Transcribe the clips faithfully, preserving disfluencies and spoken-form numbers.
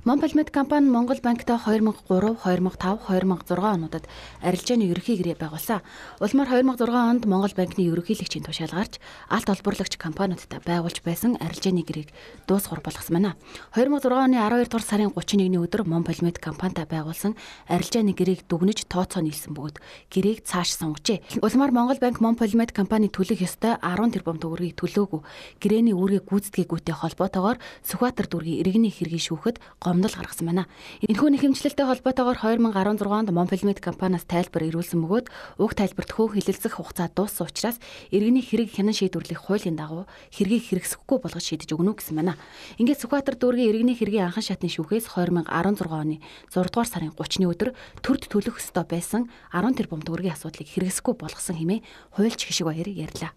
Монполмед компани Монгол банктай хоёр мянга гурав, хоёр мянга тав, хоёр мянга зургаан онуудад арилжааны ерөнхий гэрээ байгуулсан. Улмаар хоёр мянга зургаан онд Монгол банкны ерөнхийлөгчийн тушаал гарч алт олборлагч компаниудтай байгуулж байсан арилжааны гэрээг дуусгар болгосон байна. хоёр мянга зургаан оны аравдугаар сарын гуравч нэгний өдөр Монполмед компанитай байгуулсан арилжааны гэрээг дүгнэж тооцоо нийлсэн бөгөөд гэрээг цааш сунгажээ. Улмаар Монгол банк Монполмед компани төлөх ёстой арван тэрбум төгрөгийг төлөөгүй. Гэрээний үүргийг гүйцэтгээгүйтэй холбоотойгоор Сүхбаатар дүүргийн иргэний хэргийг шүүхэд гомдол гаргасан байна. Энэхүү нэхэмжлэлтэй холбоотойгоор хоёр мянга арван зургаан онд Монполмед компаниас тайлбар ирүүлсэн бөгөөд уг тайлбарт хөө хилэлцэх хугацаа дууссан учраас иргэний хэрэг хянан шийдвэрлэх хуулийн дагуу хэргийг хэрэгсэхгүй болгож шийдэж өгнө гэсэн байна. Ингээд Сүхбаатар дүүргийн иргэний хэргийн анхан шатны шүүхээс хоёр мянга арван зургаан оны зургаадугаар сарын гуравчны өдөр төрд төлөх ёстой байсан арван тэрбум төгрөгийн асуудлыг хэрэгсэхгүй болгосон хэмээн хуульч Хишиг Баяр ярьлаа.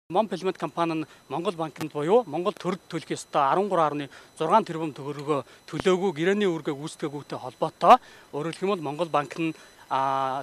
Монполмед компани нь Монгол банкнд буюу Монгол төрд төлөх ёстой арван гурван гаруй зургаан тэрбум төгрөгөө төлөөгүй гэрээний үүргээ гүйцэтгээгүйтэй холбоотой өөрөөр хэлбэл Монгол банк нь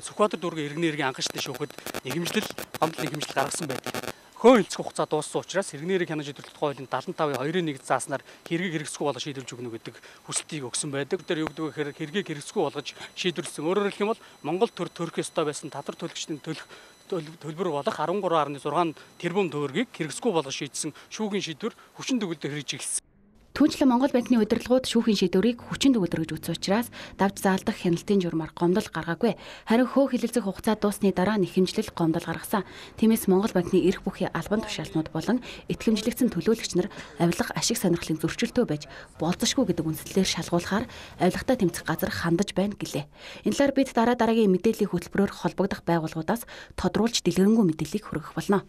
Сүхбаатар дүүргийн иргэний хэргийн анхан шатны шүүхэд нэхэмжлэл гомдол нэхэмжлэл гаргасан байдаг. Хөө хилцэх хугацаа дууссан учраас иргэний хэрэг хянаж шийдвэрлэх хуулийн дадлан тавын хоёрын нэг зааснаар хэргийг хэрэгсэхгүй болгож шийдвэрлэж өгнө гэдэг хүсэлтийг өгсөн байдаг. Тэр юу гэдэг вэ гэхээр хэргийг хэрэгсэхгүй болгож шийдвэрлсэн. Өөрөөр хэлэх юм бол Монгол төр төрөх ёстой байсан татвар төлөгчдийн төлөх төлбөр болох арван гурван гаруй зургаан тэрбум төгрөгийг хэрэгсэхгүй болгож шийдсэн шүүхийн шийдвэр хүчин төгөлдөр хэрэгжиж эхэлсэн. Түүнчлэн Монгол банкны удирдлагууд шүүхийн шийдвэрийг хүчин төгөлдөр гэж үзсэн учраас давж заалдах хяналтын журмаар гомдол гаргаагүй. Харин хөө хилэлцэх хугацаа дуусны дараа нэхэмжлэл гомдол гаргасан. Тиймээс Монгол банкны эрх бүхий албан тушаалтнууд болон итгэмжлэгдсэн төлөөлөгч нар авилга ашиг сонирхлын зөрчилтөө байж болзошгүй гэдэг үндслээр шалгуулахаар авилгатай тэмцэх газар хандаж байна гэлээ. Энэ талаар бид дараа дараагийн мэдээллийн хөтөлбөрөөр холбогдох байгууллагуудаас тодруулж дэлгэрэнгүй мэдээллийг хүргэх болно.